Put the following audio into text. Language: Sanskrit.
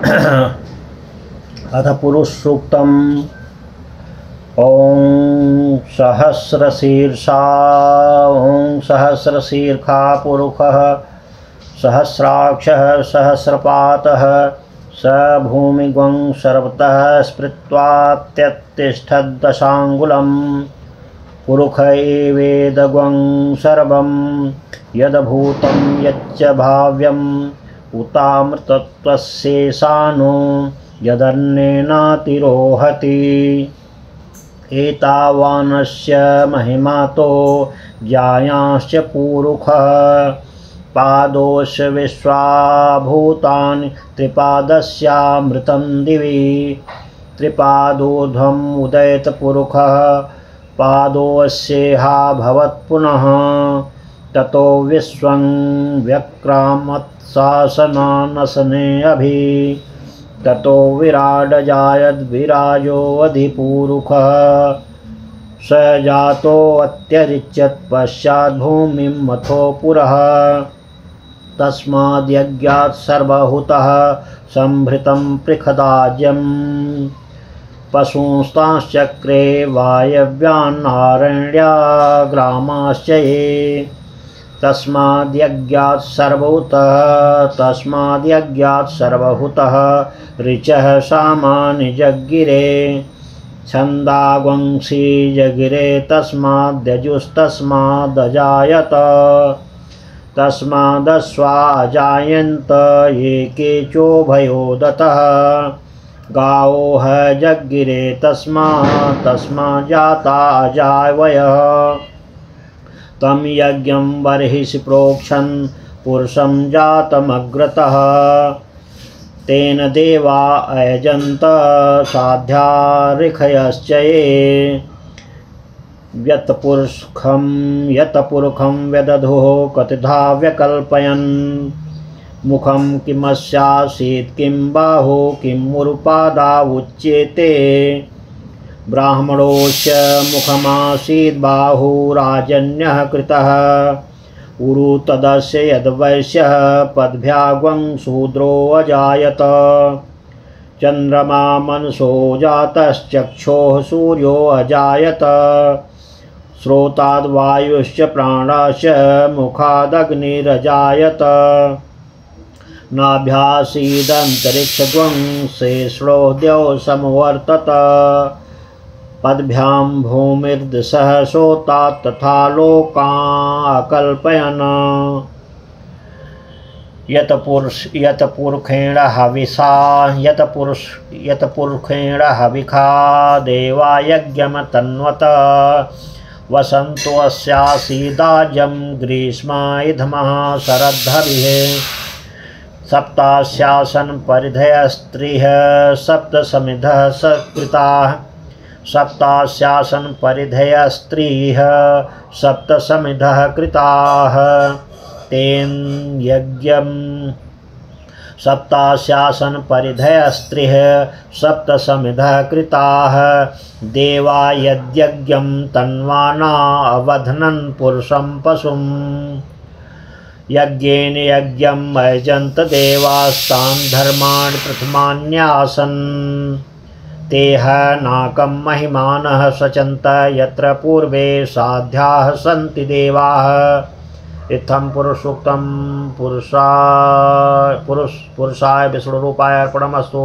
अथ पुरुष सूक्तम्। ॐ सहस्रशीर्षा ॐ सहस्रशीर्षा पुरुषः सहस्राक्षः सहस्रपातः स भूमिगं सर्वतः स्मृत्वा त्यत्तिष्ठद्दशाङ्गुलम् पुरुष एवेदगं सर्वं यद्भूतं यच्च भाव्यम् उतामृतत्वस्येषानो यदन्नेनातिरोहति। एतावानस्य महिमातो ज्ञायाश्च पुरुषः पादोऽस्य विश्वाभूतानि त्रिपादस्यामृतं दिवि त्रिपादोर्ध्वम् उदयत पुरुषः पादोऽस्येहा भवत् पुनः ततो विश्वं व्यक्रामत्शासनानसने अभि ततो विराडजायद्विराजोऽधिपुरुषः स जातोऽत्यरिच्यत् पश्चात् भूमिं मथो पुरः तस्माद्यज्ञात् सर्वहुतः संभृतं पृखदाज्यम् पशूंस्तांश्चक्रे वायव्यान्नारण्याग्रामाश्च ये तस्माद्यज्ञात् सर्वहुतः ऋचः सामानि जगिरे छन्दागुंसि जगिरे तस्माद्यजुस्तस्मादजायत तस्मादश्वा अजायन्त ये केचोभयोदतः गावोह जगिरे तस्माज्जाता अजावयः तं यज्ञं बर्हिषि प्रोक्षन् पुरुषं जातमग्रतः तेन देवा अयजन्त साध्या ऋषयश्च ये यत्पुरुषं व्यदधुः कतिधा व्यकल्पयन् मुखं किमस्यासीत् किं बाहु किं मुरुपादा उच्येते ब्राह्मणोश्च मुखमासीत् बाहुराजन्यः कृतः उरु तदस्य यद्वैश्यः पद्भ्याग्वं शूद्रो अजायत चन्द्रमा मनसो जातश्चक्षोः सूर्यो अजायत श्रोताद्वायुश्च प्राणाश्च मुखादग्निरजायत नाभ्यासीदन्तरिक्षगं शेषो द्यौ समवर्तत पद्भ्यां भूमिर्दिशः सोता तथा लोकाकल्पयन् यत्पुरुषेण हविखा देवा यज्ञमतन्वत वसन्तो अस्यासीदाजं ग्रीष्मायुधमः शरद्धभिः सप्तास्यासन परिधयस्त्रिः सप्तसमिधः सकृताः सप्तास्यासन परिधयस्त्रिः सप्तसमिधः कृताः तेन यज्ञं सप्तास्यासन परिधयस्त्रिः सप्तसमिधः कृताः देवा यद्यज्ञं तन्वाना अवध्नन् पुरुषं पशुम् यज्ञेन यज्ञम् अयजन्त देवास्तान् धर्माणि प्रथमान्यासन् तेह नाकं महिमानः सचन्त यत्र पूर्वे साध्याः सन्ति देवाः। इत्थं पुरुषसूक्तं पुरुषाय विष्णुरूपाय अर्पणमस्तु।